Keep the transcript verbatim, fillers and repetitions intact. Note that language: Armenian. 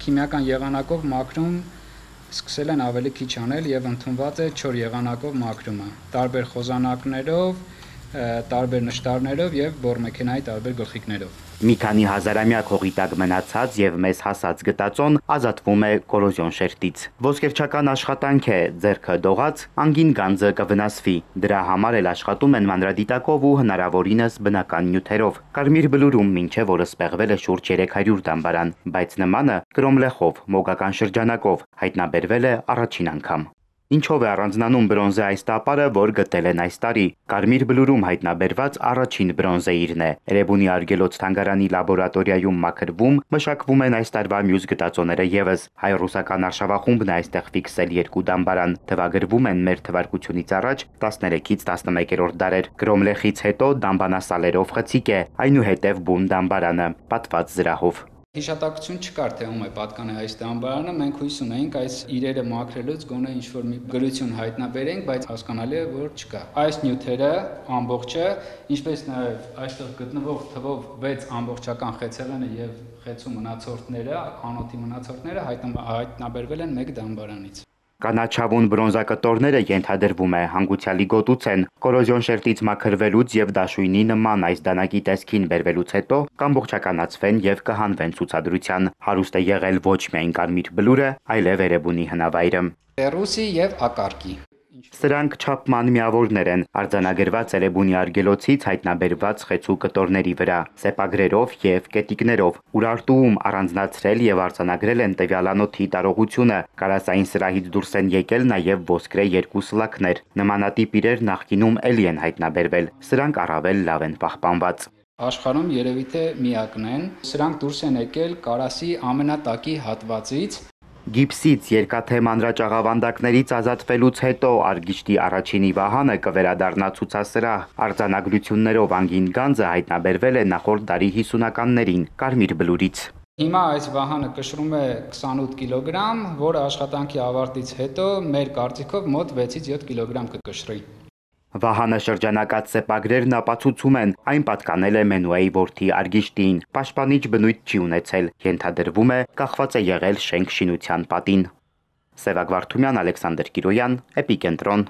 քիմիական եղանակով մաքրում սկսել են ավելի քիչ անել եւ ընդունված է չոր եղանակով մաքրումը, տարբեր խոզանակներով, տարբեր նշտարներով եւ բորմեքենայի տարբեր գլխիկներով։ Մի քանի հազարամյակ հողի տակ մնացած եւ մեզ հասած գտածոն ազատվում է կորոզիոն շերտից։ Ոսկերչական աշխատանք է, ձեռքը դողած, անգին գանձը կվնասվի։ Դրա համար էլ աշխատում են մանրադիտակով ու հնարավորինս բնական նյութերով։ Կարմիր Բլուրում մինչև օրը սպեղվել է շուրջ երեք հարյուր դամբարան, բայց նմանը Կրոմլեխով, մոգական շրջանակով հայտնաբերվել է առաջին անգամ։ Ինչով է առանձնանում բրոնզե այս տապարը, որ գտել են այս տարի։ Կարմիր Բլուրում հայտնաբերված առաջին բրոնզեիրն է։ Էրեբունի արգելոց թանգարանի լաբորատորիայում մաքրվում, մշակվում են այս տարվա մյուս գտածոները եւս։ Հայ-ռուսական արշավախումբն է այստեղ ֆիքսել երկու դամբարան։ Թվագրվում են մեր թվարկությունից առաջ տասներեքից տասնմեկերորդ դարեր։ Կրոմլեխից հետո դամբանասալերով խցիկ է, այնուհետև բուն դամբարանը, պատված զրահով։ Հիշատակություն չկար, թե ում է պատկան է այս դամբարանը, մենք հույս ունեինք այս իրերը մաքրելուց գոնե ինչ-որ մի գրություն հայտնաբերենք, բայց հասկանալի է, որ չկա։ Այս նյութերը ամբողջը, ինչպես նաև այստեղ գտնվող թվով վեց ամբողջական խեցեղենը եւ խեցու մնացորդները, անոթի մնացորդները հայտնաբերվել են մեկ դամբարանից։ Կանաչավուն բրոնզակտորները ենթադրվում է հանգուցյալի գոտուց են, կորոզիոն շերտից մաքրվելուց եւ դաշույնի նման այս դանակի տեսքին բերվելուց հետո կամբողջականացվեն եւ կհանվեն ցուցադրության։ Հարուստ է եղել ոչ միայն Կարմիր Բլուրը, այլև Էրեբունի հնավայրը։ Ռուսի եւ ակարկի։ Սրանք չափման միավորներ են, արձանագրված Էրեբունի արգելոցից հայտնաբերված խեցու կտորների վրա, սեպագրերով եւ կետիկներով, Ուրարտուում առանձնացրել եւ արձանագրել են տվյալ անոթի տարողությունը, կարասային սրահից դուրս են եկել նաեւ ոսկրե երկու սլաքներ, նմանատիպ իրեր նախկինում էլի են հայտնաբերվել, սրանք առավել լավ են պահպանված։ Աշխարհում երևի թե միակն են, սրանք դուրս են եկել կարասի ամենատակի հատվածից։ Գիպսից երկաթե մանրաճաղավանդակներից ազատվելուց հետո Արգիշտի առաջինի վահանը կվերադառնա ցուցասրահ։ Արձանագրություններով անգին գանձը հայտնաբերվել է նախորդ դարի հիսունականներին Կարմիր Բլուրից։ Հիմա այս վահանը կշռում է քսանութ կիլոգրամ, որը աշխատանքի ավարտից հետո մեր կարծիքով մոտ վեցից յոթ կիլոգրամ կկշռի։ Վահանը շրջանակած սեպագրերն ապացուցում են, այն պատկանել է Մենուեի որդի Արգիշտին, պաշտպանիչ բնույթ չի ունեցել, ենթադրվում է կախված է եղել շենք շինության պատին։ Սևակ Վարդումյան, Ալեքսանդր Կիրոյան, Էպիկենտրոն։